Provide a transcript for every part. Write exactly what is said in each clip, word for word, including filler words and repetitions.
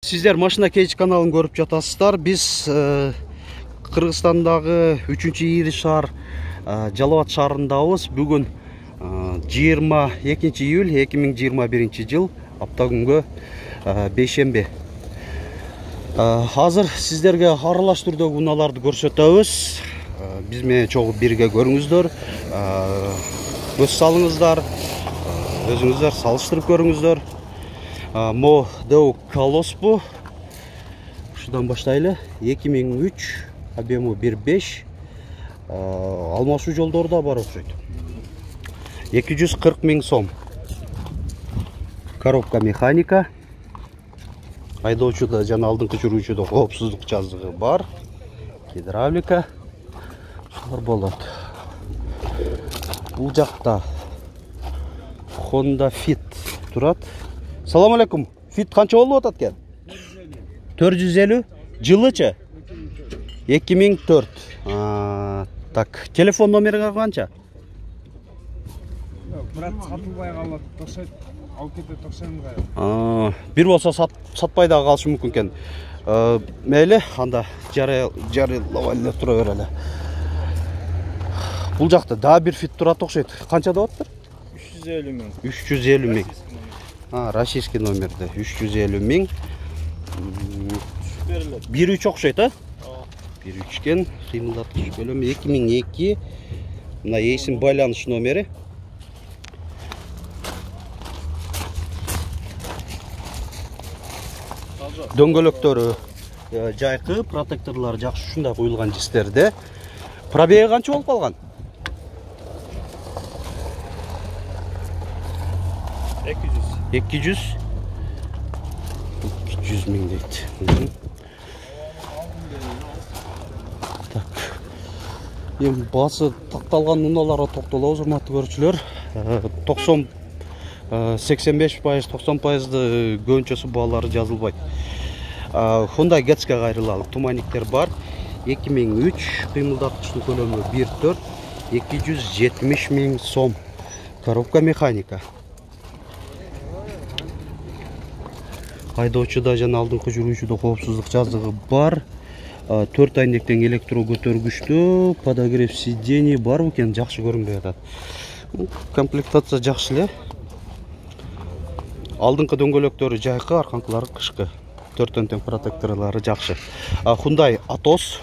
Сиздер машина кейч каналын көрүп жатасыздар. Биз Кыргызстандагы үчүнчү ири шаар Жалал Абад шаарындабыз. Бүгүн жыйырма экинчи июль эки миң жыйырма биринчи жыл апта күнгө бейшемби. Азыр сиздерге аралаш түрдөгү унааларды көрсөтөбүз. Биз менен чогуу бирге көрүңүздөр. Көз салыңыздар. Өзүңүздөр салыштырып көрүңүздөр. Мо Деу Колос бу. Ушудан баштайлы. эки миң үч, объему бир беш. Алмашуу жолдору да бар окшойт. эки жүз кырк миң сом. Коробка механика. Айдоочуда жана алдыңкы жүрүүчүдө коопсуздук жазыгы бар. Гидравлика. Шулар болот. Бул жакта Honda Fit турат. Салам алейкум. Fit канча болуп атат экен? төрт жүз элүү. Жылычы? эки миң төрт. Так, телефон номери канча? Брат сатылбай калат, токшойт, алып кетет токшоймга. Бир болсо сатпай да калышы мүмкүн экен. Мейли, анда жарыйлап эле тура берели. Бул жакта да бир Fit турат окшойт. Канча деп атыптыр? үч жүз элүү миң. үч жүз элүү миң. А, российский номерде үч жүз элүү миң. бир үч окшойт, а? бир үч кен, кыймылдаткыч көлөмү эки миң эки. Мына эсим байланыш номери. Дөңгөлөктөрү жайкы, протекторлор жакшы ушундай куюлган жистерде. Пробеги канча болуп калган? эки жүз. эки жүз. эки жүз миң дейт. Так. Эми басы такталган унааларга токтолобуз, урматтуу көрүүчүлөр. токсон сексен беш пайыз, токсон пайызды көбүнчөсү баалары жазылбайт. Honda Get'ке кайрылалы. Туманиктер бар. эки миң үч, кыймылдаткычтын көлөмү бир төрт, эки жүз жетимиш миң сом. Коробка механика. Айдоочуда жана алдыңкы жүрүүчүдө коопсуздук жазыгы бар. төрт айнектен электро көтөргүчтүү, подогрев сидений бар экен, жакшы көрүнбөй атат. Комплектация жакшы эле. Алдыңкы дөңгөлөктөрү жайкы, арканкылары кышкы. төрттөн тең протекторлору жакшы. Hyundai Atos.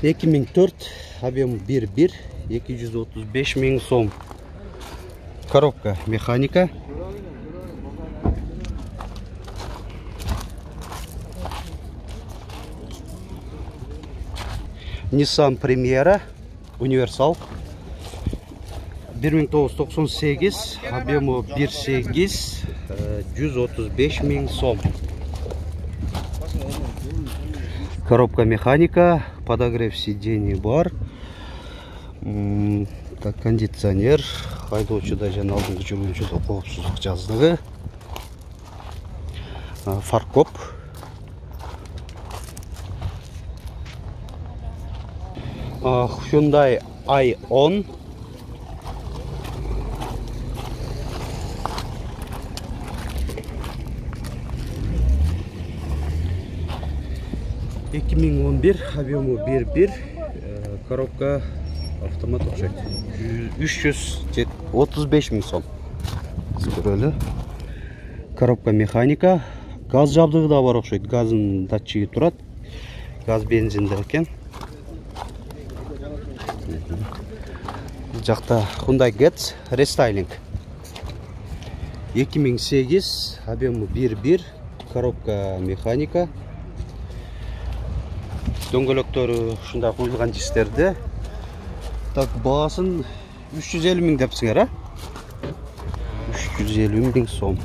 эки миң төрт, объем бир бир, эки жүз отуз беш миң сом. Коробка механика. Nissan Primera универсал. бир миң тогуз жүз токсон сегиз, объему бир сегиз, жүз отуз беш миң сом. Коробка механика, подогрев сидений бар. Так, кондиционер, айдоочуда жана алдыңкы жүрүүчүдө коопсуздук жазыгы. Фаркоп. Hyundai Ion. эки миң он бир, объему бир бир, коробка автомат окшойт. үч жүз отуз беш миң сом. Көрөлү. Коробка механика, газ жабдыгы да бар окшойт. Газдын датчиги турат. Газ бензиндер экен. Бул жакта Hyundai Getz рестайлинг. эки миң сегиз, объему бир бир, коробка механика. Дөңгөлөктөрү ушундай куюлган жистерде. Так, баасын үч жүз элүү миң депсиңер, а? үч жүз элүү миң сом.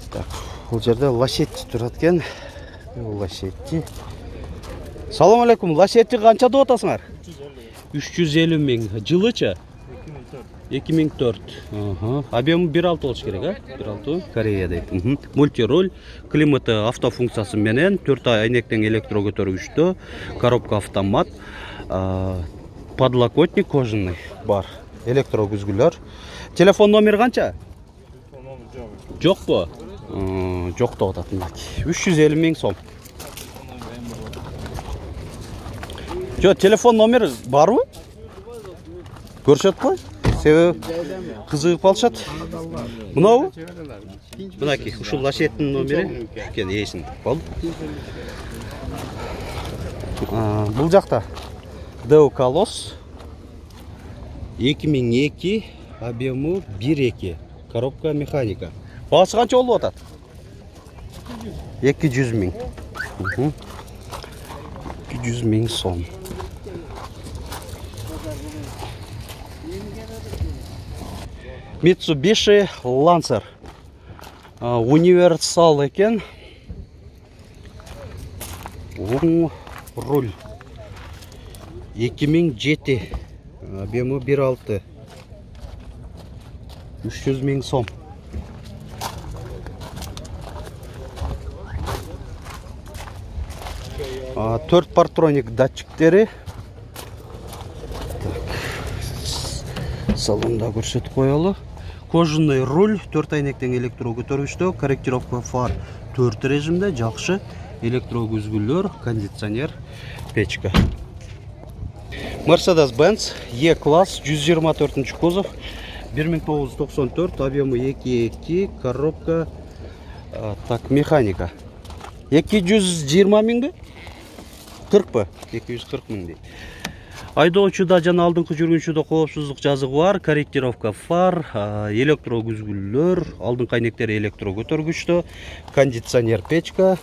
Так, бул жерде Lacetti турат экен. Lacetti. Салам алейкум. Lacetti канча деп атасыңар? үч жүз элүү миң. Жылычы? эки миң төрт. Объемы бир алты болуш керек, а? бир алты Корея дейт. Мультируль, климаты автофункциясы менен, төрт айнектен электро көтөргүчтө, коробка автомат, подлокотник кожаный бар, электро күзгүлөр. Телефон номер канча? Жокпу? Жок деп атат мынакей. үч жүз элүү миң сом. Жо, телефон номер барбы? Көрсөт кой. Себеби кызыгып калышат. Мынабы? Мынакей, ушул лашеттин номери экен эсин. Болду. Бул жакта Deo Колос эки миң эки, объему бир эки, коробка механика. Баасы канча болуп атат? эки жүз миң. эки жүз миң сом. Mitsubishi Lancer. Универсал экен. Оң руль. эки миң жети. Объему бир алты. үч жүз миң сом. төрт партроник датчиктери. Салонда көрсөтүп коелу. Кожаный руль, төрт айнектен электро көтөргүчтө, корректировка фар төрт режимде, жакшы. Электро күзгүлөр, кондиционер, печка. Mercedes-Benz E-класс, жүз жыйырма төртүнчү кузов, бир миң тогуз жүз токсон төрт, объему эки эки, коробка, так, механика. эки жүз жыйырма миңби? кыркпы? эки жүз кырк миң дейт. Айдоочуда жана алдыңкы жүргүнчүдө коопсуздук жазыгы бар, корректировка фар, электро күзгүлөр, алдыңкы айнектери электро көтөргүчтө, кондиционер, печка.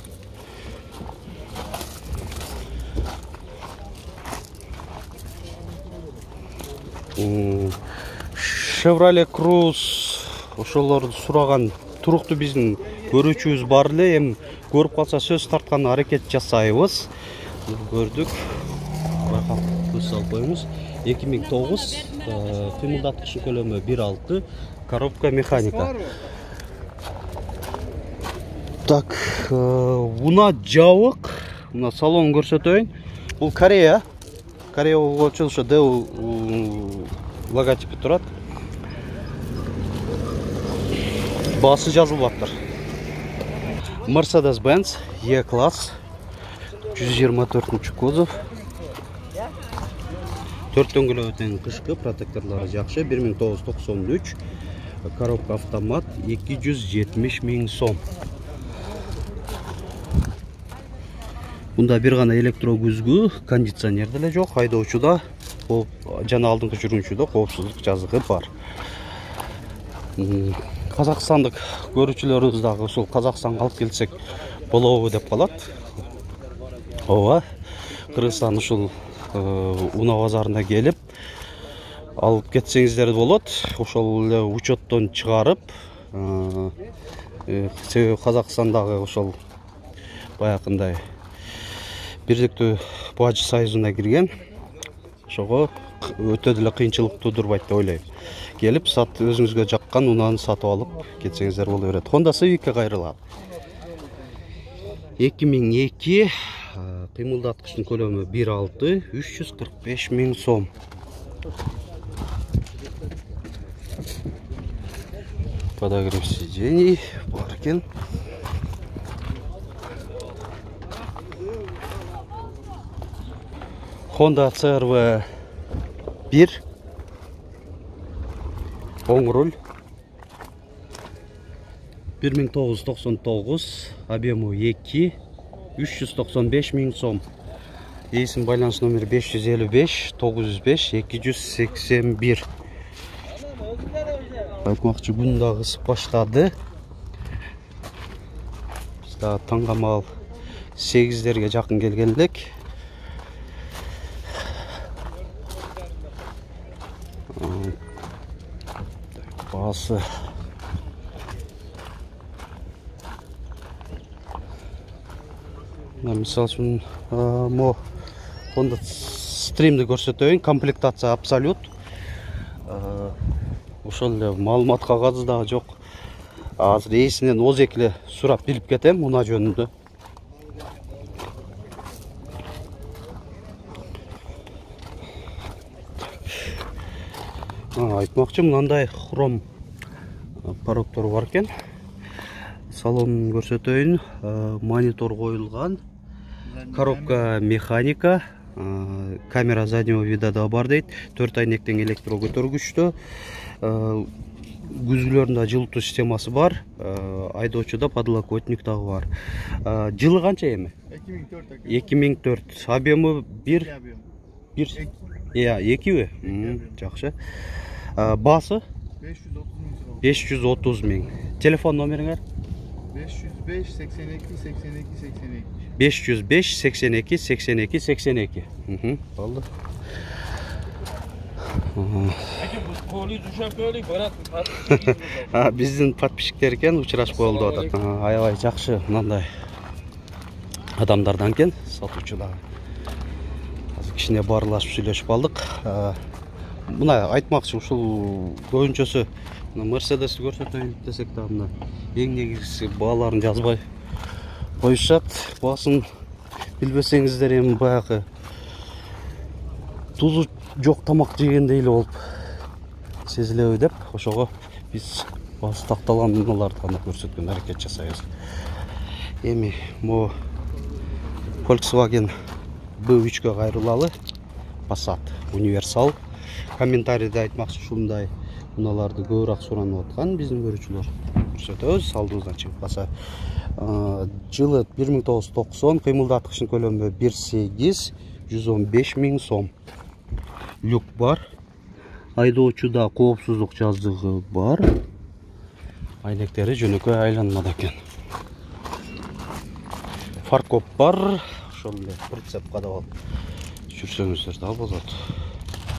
Chevrolet Cruze ошолорду сураган туруктуу биздин көрүүчүбүз бар эле, эми көрүп калса сөз тарткан аракет жасайбыз. Көрдүк. Байкап көз салып коебуз. эки миң тогуз, кыймылдаткычтын көлөмү бир алты, коробка механика. Так, мына жабык, мына салон көрсөтөйүн. Бул Корея. Корея болчу ошо Deo логотипи турат. Баасы жазылып аттыр. Mercedes-Benz E-класс, жүз жыйырма төртүнчү кузов. төрт дөңгөлөктөн кышкы, протекторлору жакшы, бир миң тогуз жүз токсон үч, коробка автомат, эки жүз жетимиш миң сом. Мында бир гана электро күзгү, кондиционер деле жок, айдоочуда жана алдыңкы жүргүнчүдө коопсуздук жазыгы бар. Казакстандык көрүүчүлөрүбүз дагы ушул Казакстанга алып келсек болобу деп калат. Ооба, Кыргызстан ушул Уна базарына келип алып кетсеңиздер болот. Ошол эле учеттон чыгарып, себеби Казакстандагы ошол баягындай бирликтүү бажы союзуна кирген. Ошого өтө деле кыйынчылык тудурбайт деп ойлойм. Келип, сат өзүңүзгө жаккан унаны сатып алып кетсеңиздер боло берет. Honda Civic'ке кайрылат. эки миң эки, кыймылдаткычтын көлөмү бир алты, үч жүз кырк беш миң сом. Подогрев сидений бар экен. Honda си эр ви бир, оң руль, бир миң тогуз жүз токсон тогуз, объему эки, үч жүз токсон беш миң сом. Эсин байланыш номери беш жүз элүү беш, тогуз жүз беш, эки жүз сексен бир. Айтмакчы, күн дагы ысып баштады. Биз дагы таңгамал сегиздерге жакын келген элек. Баасы мисал үчүн мо Honda Stream'ди көрсөтөйүн. Комплектация абсолют. ошол эле маалымат кагазы дагы жок. Азыр ээсинен оз эки эле сурап билип кетем унаа жөнүндө. Айтмакчы, мындай хром пароктор бар экен. Салонун көрсөтөйүн. Монитор коюлган. Коробка механика. Камера заднего вида да бар дейт. төрт айнектен электро көтөргүчтө. Күзгүлөрүндө жылытуу системасы бар. Айдоочуда подлокотник дагы бар. Жылы канча эми? эки миң төрт. Объему бир бир Я, экиби? Жакшы. Баасы? беш жүз отуз миң. Телефон номериңер? беш жүз беш сексен эки сексен эки сексен эки. беш жүз беш сексен эки сексен эки сексен эки. Болду. Биздин подписчиктер экен, учурашып болду атат. Аябай жакшы мындай адамдардан экен, сатуучу дагы. Кичине баарлашып сүйлөшүп алдык. Мына айтмакчы, ушул көбүнчөсү Мерседести көрсөтөйүн десек да мына эң негизгиси бааларын жазбай коюшат. Баасын билбесеңиздер эми баягы тузу жок тамак жегендей эле болуп сезилеби деп, ошого биз баасы такталган унааларды гана көрсөткөн аракет жасайбыз. Эми могу Volkswagen бэ үчкө кайрылалы. Passat универсал. Комментарийде айтмакчы, ушундай унааларды көбүрөөк суранып аткан биздин көрүүчүлөр. Көрсөтөбүз, алдыбыздан чыгып калса. Жылы бир миң тогуз жүз токсон, кыймылдаткычтын көлөмү бир сегиз, жүз он беш миң сом. Люк бар. Айдоочуда коопсуздук жаздыгы бар. Айнектери жөнөкөй айланмада экен. Фаркоп бар. Ошол эле прицеп кадап алып жүрсөңүздөр да болот.